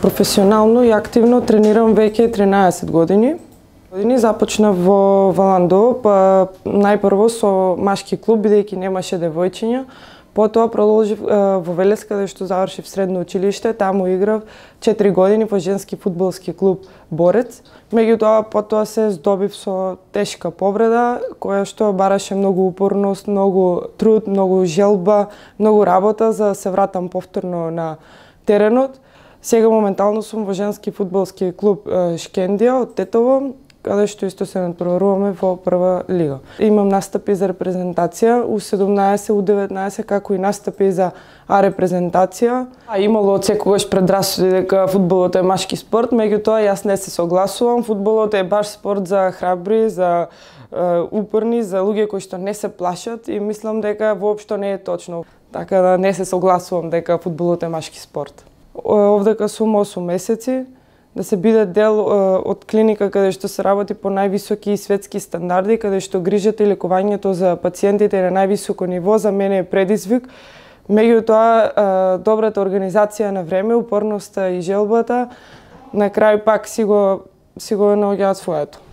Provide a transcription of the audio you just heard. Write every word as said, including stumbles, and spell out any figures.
Професионално и активно тренирам веќе тринаесет години. Започнав во Валандово, па најпрво со машки клуб, бидејќи немаше девојчиња. Потоа продолжив во Велес, каде што завршив средно училиште, таму играв четири години во женски фудбалски клуб Борец. Меѓутоа, потоа се здобив со тешка повреда, која што бараше многу упорност, многу труд, многу желба, многу работа за да се вратам повторно на теренот. Сега моментално сум во женски фудбалски клуб Шкендија од Тетово, каде што исто се натпреваруваме во прва лига. Имам настапи за репрезентација у седумнаесет, у деветнаесет, како и настапи за А репрезентација. А имало од секогаш предрасуди дека фудбалот е машки спорт, меѓутоа јас не се согласувам. Фудбалот е баш спорт за храбри, за е, упорни, за луѓе кои што не се плашат и мислам дека воопшто не е точно. Така да не се согласувам дека фудбалот е машки спорт. Овдека сум осум месеци, да се биде дел е, од клиника каде што се работи по највисоки и светски стандарди, каде што грижата и лекувањето за пациентите на највисоко ниво, за мене е предизвик. Меѓутоа, добрата организација на време, упорноста и желбата, на крај пак си го, си го наоѓаат своето.